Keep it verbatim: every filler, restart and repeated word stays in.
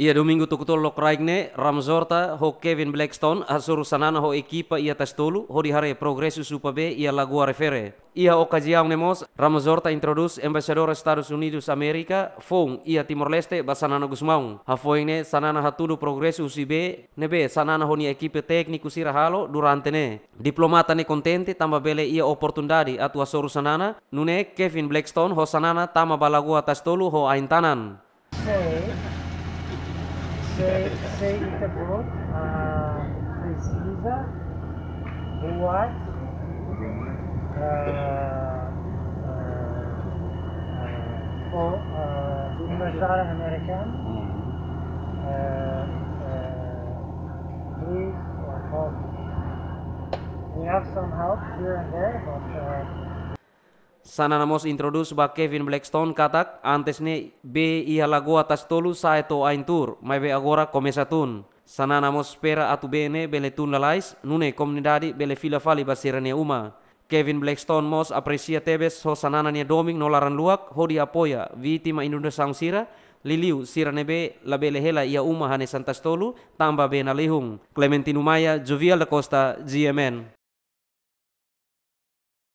Iha domingu tuku tolu lokraik ne'e, Ramos Horta ho Kevin Blackstone hasoru Xanana ho ekipa iha Tasi Tolu hodi haree progresu Supa B iha Lagoa Refere. Iha okaziaun ne'e mós, Ramos Horta introdús Embaixadór Estadus Unidus Amérika foun iha Timor-Leste ba Xanana Gusmão. Hafoin ne'e Xanana hatudu progresu husi B ne'ebé Xanana ho nia ekipa tékniku sira halo durante ne'e. Diplomata ne'e kontente tanba bele iha oportunidade atu hasoru Xanana, nune'e Kevin Blackstone ho Xanana tama ba Lagoa Tasi Tolu ho ain-tanan. Sei, sei, sei ita-boot, ah, presiza buat, ah, ah, ah, ho, ah, Universidade Americana, ah, ah, please or help. We have some help here and there, but, ah, Xanana mós introdús ba Kevin Blackstone katak antes ne'e B iha Lagoa Tasi Tolu sa'e to'o ain tuur, maibé agora komesa tun. Xanana mós espera atu B ne'e bele tun lalais, nune'e komunidade bele fila fali ba sira-nia uma. Kevin Blackstone mós apresia tebes ho Xanana nia domin no laran-luak hodi apoia vítima inundasaun sira, liuliu sira ne'ebé labele hela iha uma hanesan Tasi Tolu tanba B nalihun. Clementino Maia, Jovial da Costa, G M N.